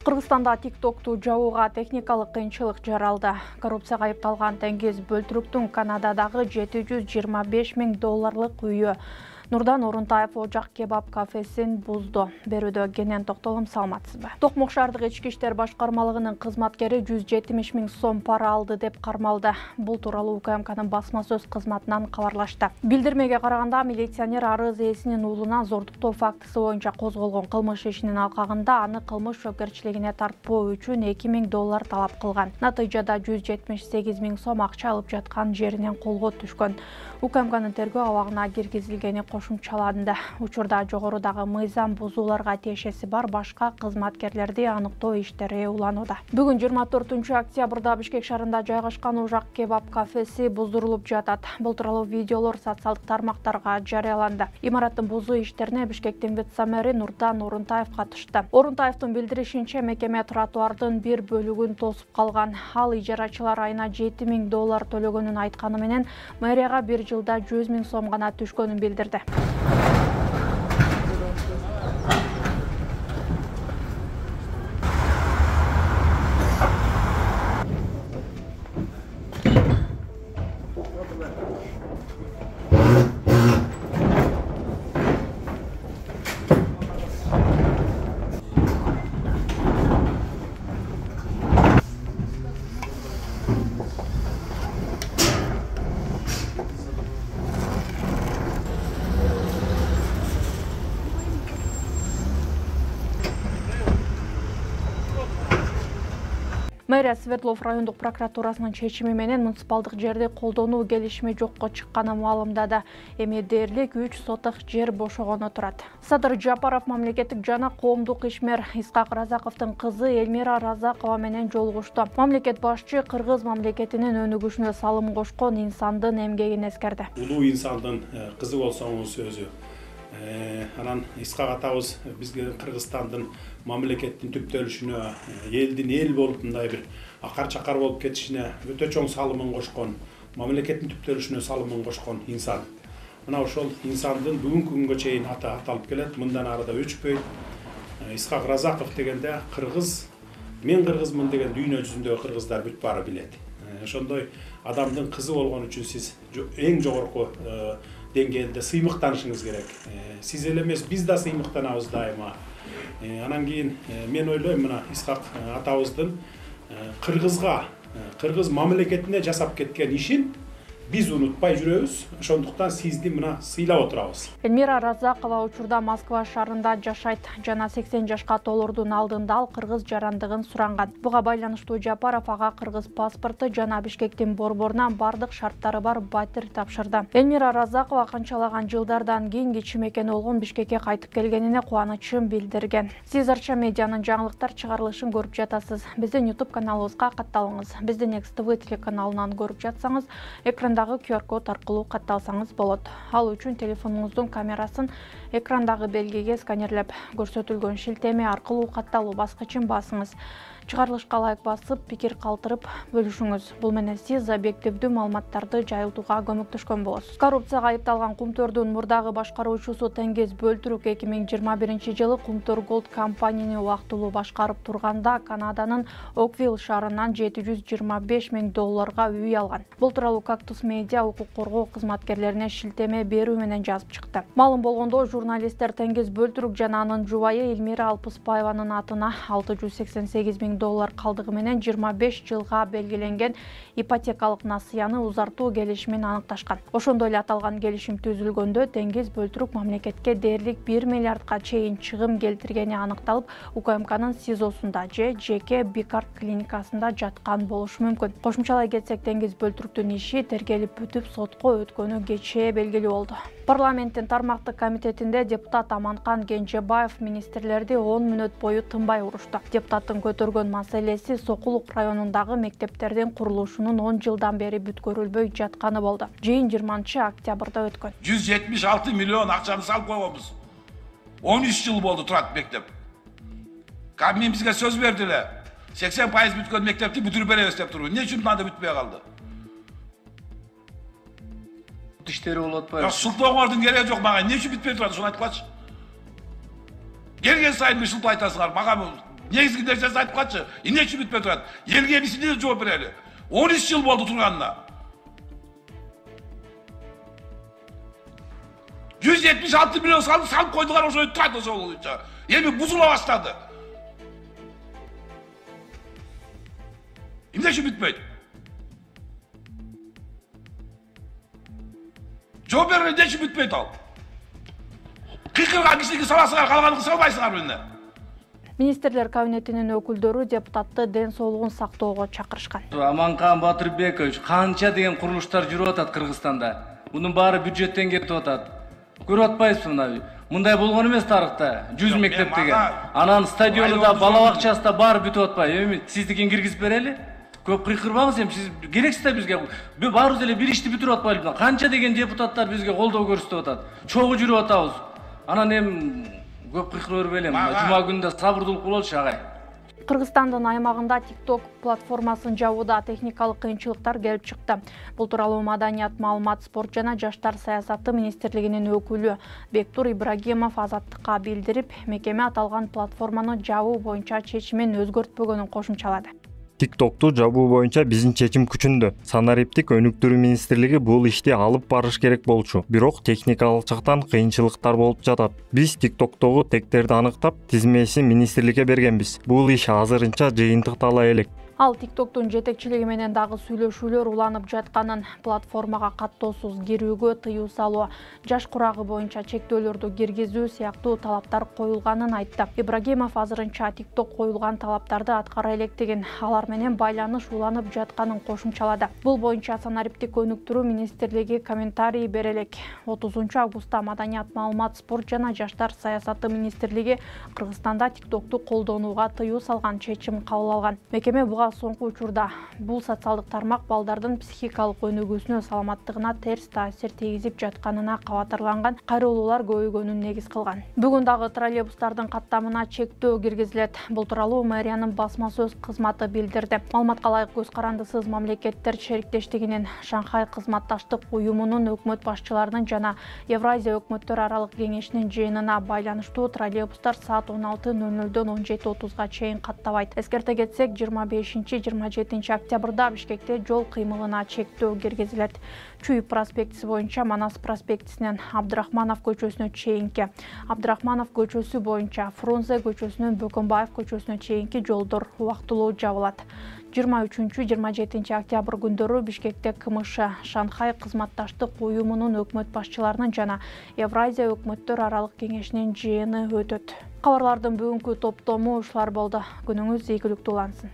Кыргызстанда TikTok'ту жабууга техникалык кыйынчылык жаралды. Коррупцияга айыпталган Теңгиз Бөлтүрүктүн Канададагы $720,000 үйү Нурдан Орунтаев ожак кебаб кафесин бузду. Берүүдө кенен токтолом, саламатсызбы? Токмок шаардык ички иштер башкармалыгынын кызматкери 170,000 сом пара алды деп кармалды. Бул тууралуу УКМКнын басма сөз кызматынан кабарлашты. Билдирмеге караганда, милиционер арыз ээсинин уулуна зордуктоо фактысы боюнча козголгон кылмыш ишинин алкагында аны кылмыш жоопкерчилигине тартпоо үчүн $2,000 талап кылган. Натыйжада 178,000 сом акча алып жаткан жеринен колго түшкөн. УКМКнын тергөө абагына киргизилгени кошумчаланды. Учурда жогорудагы мыйзам бузууларга тиешеси бар башка кызматкерлерди аныктоо иштери уланууда. Бүгүн 24 октябрда Бишкек шаарында жайгашкан ожак кебаб кафеси буздурулуп жатат. Бул тууралуу видеолор социалдык тармактарга жарыяланды. Имараттын бузуу иштерине Бишкектин вице-мэри Нурдан Орунтаев катышты. Орунтаевдин билдиришинче, мекеме тротуардын бир бөлүгүн тосуп калган. Ал ижарачылар айына $7,000 төлөгөнүн айтканы менен мэрияга бир жылда 100,000 сом гана түшкөнүн билдирди. Мэрия Свердлов райондук прокуратурасынын чечими менен муниципалдык жерди колдонуу келишими жокко чыкканын маалымдады. Эми дээрлик 3 соток жер бошогону турат. Садыр Жапаров мамлекеттик жана коомдук ишмер Исхак Разаковдун кызы Эльмира Разакова менен жолугушту. Мамлекет башчы кыргыз мамлекетинин өнүгүшүнө салым кошкон инсандын эмгегин эскерди. Улуу инсандын кызы болсоңуз өзү. Анан Исхак атабыз бизге Кыргызстандын мамлекеттин түптөлүшүнө, элдин эл болуп мындай бир акар чакар болуп кетишине өтө чоң салымын кошкон, мамлекеттин түптөлүшүнө салымын кошкон инсан. Мына ошол инсандын бүгүнкү күнгө чейин аты аталып келет, мындан арыда өчпөйт. Исхак Разаков дегенде кыргыз, мен кыргызмын деген дүйнө жүзүндөгү кыргыздар бүт баары билет. Ошондой адамдын кызы болгон үчүн сиз эң жогорку деңгээлде сыймыктанышыңыз керек. Сиз эле эмес, биз да сыймыктанабыз дайыма. Анан кийин мен ойлойм, мына Исхак атабыздын кыргызга, кыргыз мамлекетине жасап кеткен ишин биз унутпай жүрөбүз. Ошондуктан сизди мына сыйлап отурабыз. Эльмира Разакова учурда Москва шаарында жашайт. Жана 80 жашка толурдун алдында ал кыргыз жарандыгын суранган. Буга байланыштуу Жапаров ага кыргыз паспорту жана Бишкектин борборунан бардык шарттары бар батир тапшырды. Эльмира Разакова канчалаган жылдардан кийин кичи мекени болгон Бишкекке кайтып келгенине кубанычын билдирген. Сиз Арча медианын жаңылыктар чыгарылышын көрүп жатасыз. Биздин YouTube каналыбызга катталыңыз. Биздин XTV телеканалынан көрүп жатсаңыз, экранда QR-код аркылуу катталсаңыз болот. Ал үчүн телефонуңуздун камерасын экрандагы белгиге сканерлеп, көрсөтүлгөн шилтеме аркылуу катталуу баскычын басыңыз. Чыгарылышка лайк басып, пикир калтырып бөлүшүңүз. Бул менен сиз объективдүү маалыматтарды жайылтууга көмөктөшкөн болосуз. Коррупцияга айыпталган Кумтөрдүн мурдагы башкаруучусу Теңгиз Бөлтүрүк 2021 жылы Кумтөр Голд компанияны убактылуу башкарып турганда Канаданын Оквилл шаарынан $725,000 үй алган. Бул тууралуу Кактус медиа укук коргоо кызматкерлерине шилтеме берүү менен жазып чыкты. Маалым болгондо, журналисттер Теңгиз Бөлтүрүк жана анын жубайы Эльмира Алпыспаеванын атына $688,000 калдыгы менен 25 жылга белгиленген ипотекалык насыяны узартуу келишимин аныкташкан. Ошондой эле аталган келишим түзүлгөндө Теңгиз Бөлтүрүк мамлекетке дээрлик 1 миллиардга чейин чыгым келтиргени аныкталып, УКМКнын СИЗОсунда же жеке Бикарт клиникасында жаткан болушу мүмкүн. Кошумчалай кетсек, Теңгиз Бөлтүрүктүн иши тергелип бүтүп сотко өткөнү кечээ белгилүү болду. Парламенттин тармактык комитетинде депутат Аманкан Кенжебаев министрлерди 10 мүнөт бою тынбай урушту. Депутаттын көтөргөн маселеси Сокулук районундагы мектептердин курулушунун 10 жылдан бери бүткөрүлбөй жатканы болду. Жыйын 20 октябрда өткөн. 176 миллион акчаны салып койгонбуз. 13 жыл болду турат мектеп. Кабмин бизге сөз берди эле. 80% бүткөн мектепти бүтүрүп беребиз деп турбу. Эмне үчүн мында бүтпөй калды? Иштери болуп атпайбы? Султооңордун кереги жок мага. Эмне үчүн бүтпөй турат, ошону айтып калчы. Келген сайын ушинтип айтасыңар. Мага Негизги нерсесин айтып калчы. Эмне үчүн бүтпөй турат? Элге биз эмне жооп берели? 13 жыл болду турганына. 176 миллион салып койдугар, ошо турат ошол боюнча. Эми бузула баштады. Эмне үчүн бүтпөйт? Жооп берүү эмне үчүн бүтпөйт ал? Кыйкырган кишиге саласыңар, калганын салбайсыңар эмне? Министрлер кабинетинин өкүлдөрү депутатты ден соолугун сактоого чакырышкан. Аманкан Батырбекович, канча деген курулуштар жүрүп атат Кыргызстанда. Мунун баары бюджеттен кетип атат. Көрүп атпайсызбы мына? Мындай болгон эмес тарыхта. 100 мектеп деген. Анан стадиону да, бала бакчасы да баары бүтүп атпайбы? Эми сиздикин киргизип берели? Көп кыйкырбаңыз, эми сиз керексиз да бизге. Баарыбыз эле бир ишти бүтүрүп атпайлыбыз. Канча деген депутаттар бизге колдоо көрсөтүп атат. Чогуу жүрүп атабыз. Анан эми көп кыйкыра бербелем. Жума күнүндө сабырдуулук бололчу агай. Кыргызстандын аймагында TikTok платформасын жабууда техникалык кыйынчылыктар келип чыкты. Бул тууралуу Маданият, маалымат, спорт жана жаштар саясаты министрлигинин өкүлү Бектур Ибрагимов Азаттыкка билдирип, мекеме аталган платформаны жабуу боюнча чечимин өзгөртпөгөнүн кошумчалады. TikTok'tu жабуу боюнча биздин чечим күчүндө. Санариптик өнүктүрүү министрлиги бул ишти алып барыш керек болчу. Бирок техникалык жактан кыйынчылыктар болуп жатат. Биз TikTok'тогу тектерди аныктап, тизмесин министрликке бергенбиз. Бул иш азырынча жыйынтыктала элек. Ал TikTok'тун жетекчилиги менен дагы сүйлөшүүлөр уланып жатканын, платформага каттоосуз кирүүгө тыюу салуу, жаш курагы боюнча чектөөлөрдү киргизүү сыяктуу талаптар коюлганын айтты. Ибрагимов азырынча TikTok коюлган талаптарды аткара электигин, алар менен байланыш уланып жатканын кошумчалады. Бул боюнча Санариптик өнүктүрүү министрлиги комментарий бере элек. 30 августта Маданият, маалымат, спорт жана жаштар саясаты министрлиги Кыргызстанда TikTok'ту колдонууга тыюу салган чечим кабыл алган. Мекеме буга соңку учурда бул социалдык тармак балдардын психикалык өнүгүүсүнө, саламаттыгына терс таасир тийгизип жатканына кабатырланган, кайрылуулар көбөйгөнүн негиз кылган. Бүгүн дагы троллейбустардын каттамына чектөө киргизилет. Бул тууралуу мэриянын басма сөз кызматы билдирди. Маалыматка ылайык, көз карандысыз мамлекеттер шериктештигинин Шанхай кызматташтык уюмунун өкмөт башчыларынын жана Евразия өкмөттөр аралык кеңешинин жыйынына байланыштуу троллейбустар саат 16:00дөн 17:30га чейин каттабайт. Эскерте кетсек, 25-27 октябрда Бишкекте жол кыймылына чектөө киргизилет. Чуюп проспектиси боюнча Манас проспектисинен Абдрахманов көчөсүнө чейинки, Абдрахманов көчөсү боюнча Фрунзе көчөсүнөн Бөкөнбаев көчөсүнө чейинки жолдор убактылуу жабылат. 23-27 октябрь күндөрү Бишкекте КМШ Шанхай кызматташтык уюмунун өкмөт башчыларынын жана Евразия өкмөттөр аралык кеңешинин жыйыны өтөт. Кабарлардын бүгүнкү топтому ушулар болду. Күнүңүз ийгиликтүү улансын.